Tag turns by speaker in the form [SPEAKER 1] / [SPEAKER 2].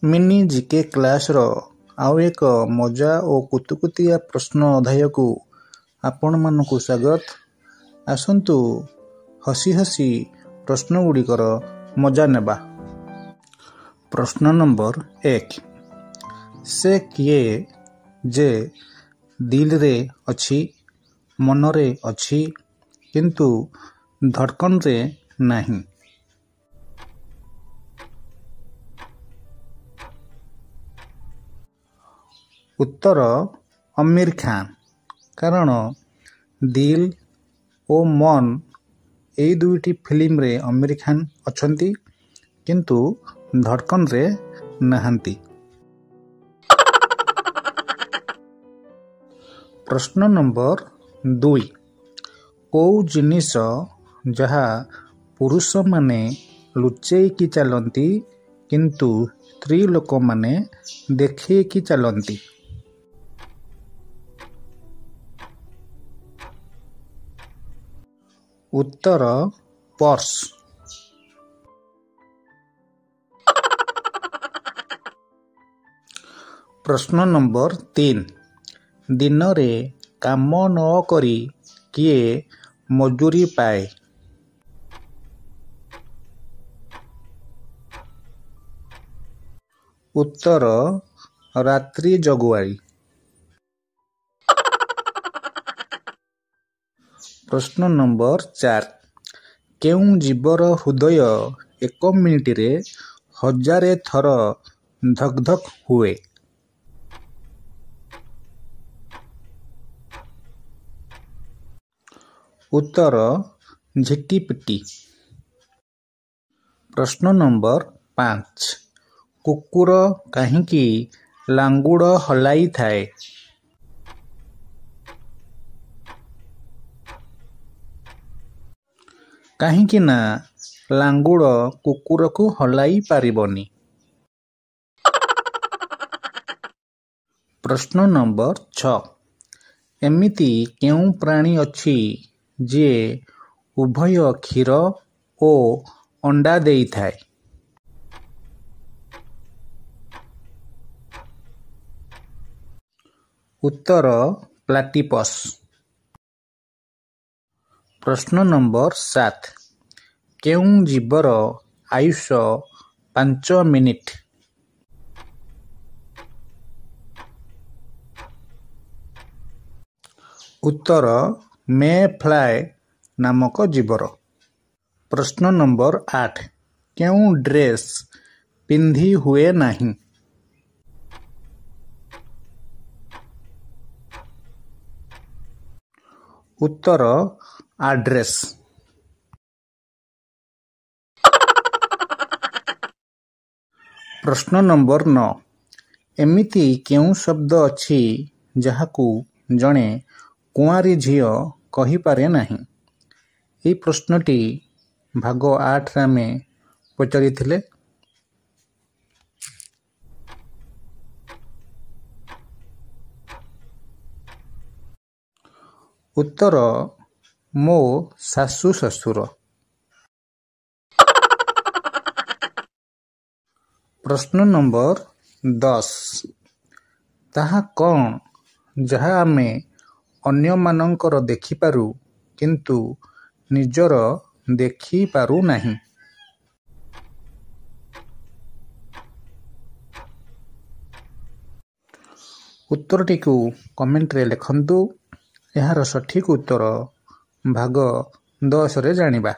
[SPEAKER 1] Mini GK କ୍ଲାସ୍ର ଆଉ ଏକ ମଜା ଓ କୁତୁକୁତିଆ ପ୍ରଶ୍ନ ଅଧ୍ୟାୟକୁ ଆପଣମାନଙ୍କୁ ସ୍ୱାଗତ। ଆସନ୍ତୁ ହସି ହସି ପ୍ରଶ୍ନଗୁଡ଼ିକର ମଜା ନେବା। ପ୍ରଶ୍ନ ନମ୍ବର 1, ସେ କିଏ ଯେ ଦିଲରେ ଅଛି, ମନରେ ଅଛି, କିନ୍ତୁ ଧଡ଼କନରେ ନାହିଁ? ଉତ୍ତର ଅମୀର ଖାଁ। କାରଣ ଦିଲ୍ ଓ ମନ୍ ଏଇ ଦୁଇଟି ଫିଲ୍ମରେ ଅମୀର ଖାନ୍ ଅଛନ୍ତି, କିନ୍ତୁ ଧଡ଼କନରେ ନାହାନ୍ତି। ପ୍ରଶ୍ନ ନମ୍ବର 2, କୋଉ ଜିନିଷ ଯାହା ପୁରୁଷମାନେ ଲୁଚେଇକି ଚାଲନ୍ତି କିନ୍ତୁ ସ୍ତ୍ରୀ ଲୋକମାନେ ଦେଖେଇକି ଚାଲନ୍ତି? ଉତ୍ତର ପର୍ସ। ପ୍ରଶ୍ନ ନମ୍ବର 3, ଦିନରେ କାମ ନ କରି କିଏ ମଜୁରୀ ପାଏ? ଉତ୍ତର ରାତ୍ରି ଜଗୁଆଳି। ପ୍ରଶ୍ନ ନମ୍ବର 4, କେଉଁ ଜୀବର ହୃଦୟ ଏକ ମିନିଟରେ 1000 ଥର ଧକ୍ ଧକ୍ ହୁଏ? ଉତ୍ତର ଝିଟିପିଟି। ପ୍ରଶ୍ନ ନମ୍ବର 5, କୁକୁର କାହିଁକି ଲାଙ୍ଗୁଡ଼ ହଲାଇଥାଏ? କାହିଁକି ନା ଲାଙ୍ଗୁଡ଼ କୁକୁରକୁ ହଲାଇ ପାରିବନି। ପ୍ରଶ୍ନ ନମ୍ବର 6, ଏମିତି କେଉଁ ପ୍ରାଣୀ ଅଛି ଯିଏ ଉଭୟ କ୍ଷୀର ଓ ଅଣ୍ଡା ଦେଇଥାଏ? ଉତ୍ତର ପ୍ଲାଟିପସ୍। ପ୍ରଶ୍ନ ନମ୍ବର 7, କେଉଁ ଜୀବର ଆୟୁଷ 5 ମିନିଟ୍? ଉତ୍ତର ମେ ଫ୍ଲାଏ ନାମକ ଜୀବର। ପ୍ରଶ୍ନ ନମ୍ବର 8, କେଉଁ ଡ୍ରେସ୍ ପିନ୍ଧି ହୁଏ ନାହିଁ? ଉତ୍ତର ଆଡ୍ରେସ୍। ପ୍ରଶ୍ନ ନମ୍ବର 9, ଏମିତି କେଉଁ ଶବ୍ଦ ଅଛି ଯାହାକୁ ଜଣେ କୁଆଁରୀ ଝିଅ କହିପାରେ ନାହିଁ? ଏହି ପ୍ରଶ୍ନଟି ଭାଗ 8ରେ ଆମେ ପଚାରିଥିଲେ। ଉତ୍ତର ମୋ ଶାଶୁ ଶ୍ୱଶୁର। ପ୍ରଶ୍ନ ନମ୍ବର 10, ତାହା କ'ଣ ଯାହା ଆମେ ଅନ୍ୟମାନଙ୍କର ଦେଖିପାରୁ କିନ୍ତୁ ନିଜର ଦେଖିପାରୁନାହିଁ? ଉତ୍ତରଟିକୁ କମେଣ୍ଟରେ ଲେଖନ୍ତୁ। ଏହାର ସଠିକ୍ ଉତ୍ତର ଭାଗ 10ରେ ଜାଣିବା।